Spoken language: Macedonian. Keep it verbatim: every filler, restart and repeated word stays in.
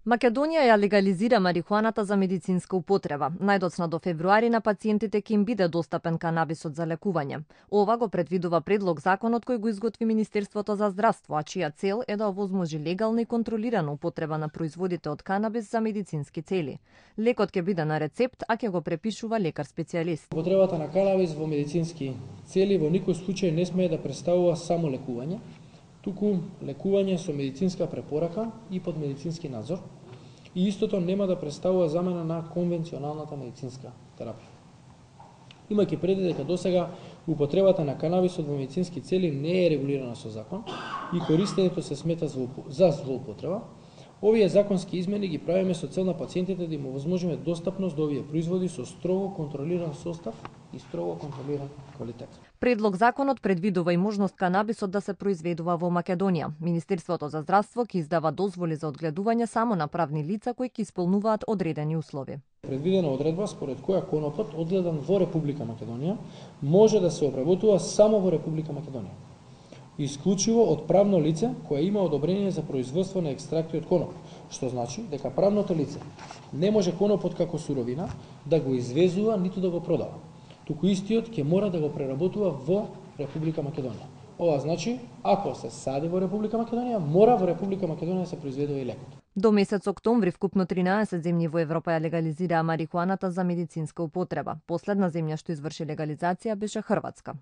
Македонија ја легализира марихуаната за медицинска употреба. Најдоцна до февруари на пациентите ќе им биде достапен канабисот за лекување. Ова го предвидува предлог законот кој го изготви Министерството за здравство, а чија цел е да овозможи легална и контролирана употреба на производите од канабис за медицински цели. Лекот ќе биде на рецепт, а ќе го препишува лекар-специјалист. Употребата на канабис во медицински цели во никој случај не смее да представува само лекување, туку лекување со медицинска препорака и под медицински надзор, и истото нема да представува замена на конвенционалната медицинска терапија. Имајќи предвид дека досега употребата на канабисот во медицински цели не е регулирана со закон и користењето се смета за злоупотреба, овие законски измени ги правиме со цел на пациентите да им овозможиме достапност до овие производи со строго контролиран состав и строго контролиран квалитет. Предлог законот предвидува и можност канабисот да се произведува во Македонија. Министерството за здравство ќе издава дозволи за одгледување само на правни лица кои ќе исполнуваат одредени услови. Предвидена одредба според која конопот одгледан во Република Македонија може да се обработува само во Република Македонија, исклучиво од правно лице кое има одобрение за производство на екстракти од коноп, што значи дека правното лице не може конопот како суровина да го извезува ниту да го продава, туку истиот ќе мора да го преработува во Република Македонија. Ова значи, ако се сади во Република Македонија, мора во Република Македонија да се произведува и лекот. До месец октомври вкупно тринаесет земји во Европа ја легализираа марихуаната за медицинска употреба. Последна земја што изврши легализација беше Хрватска.